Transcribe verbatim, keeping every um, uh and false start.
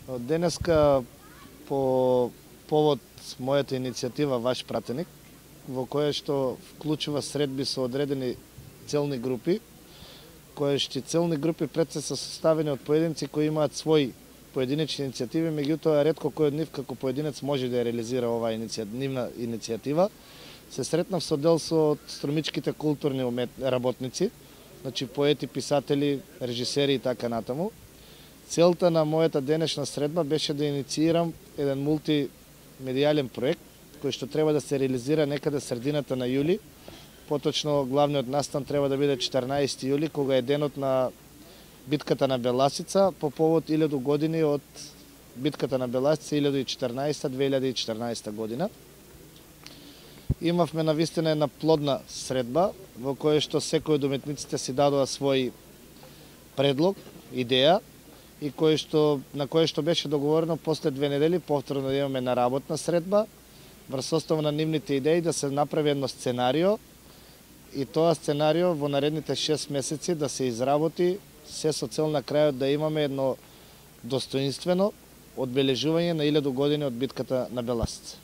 Денеска по повод мојата иницијатива Ваш пратеник, во која што вклучува средби со одредени целни групи, кои што целни групи пред се се составени од поединци кои имаат своји поединечни иницијативи, меѓутоа ретко кој од нив како поединец може да ја реализира оваа иницијативна иницијатива. Се сретнав со дел со струмичките културни работници, значи поети, писатели, режисери и така натаму. Целта на мојата денешна средба беше да инициирам еден мултимедијален проект кој што треба да се реализира некаде средината на јули. Поточно главниот настан треба да биде четрнаесети јули, кога е денот на битката на Беласица по повод илјаду години од битката на Беласица илјаду и четрнаесета - две илјади и четрнаесета година. Имавме навистина една плодна средба во која што секој од уметниците си дадоа свој предлог, идеја и кој што на кој што беше договорено после две недели повторно да имаме на работна средба врз основа на нивните идеи да се направи едно сценарио и тоа сценарио во наредните шест месеци да се изработи се со цел на крајот да имаме едно достоинствено одбележување на илјаду години од битката на Беласица.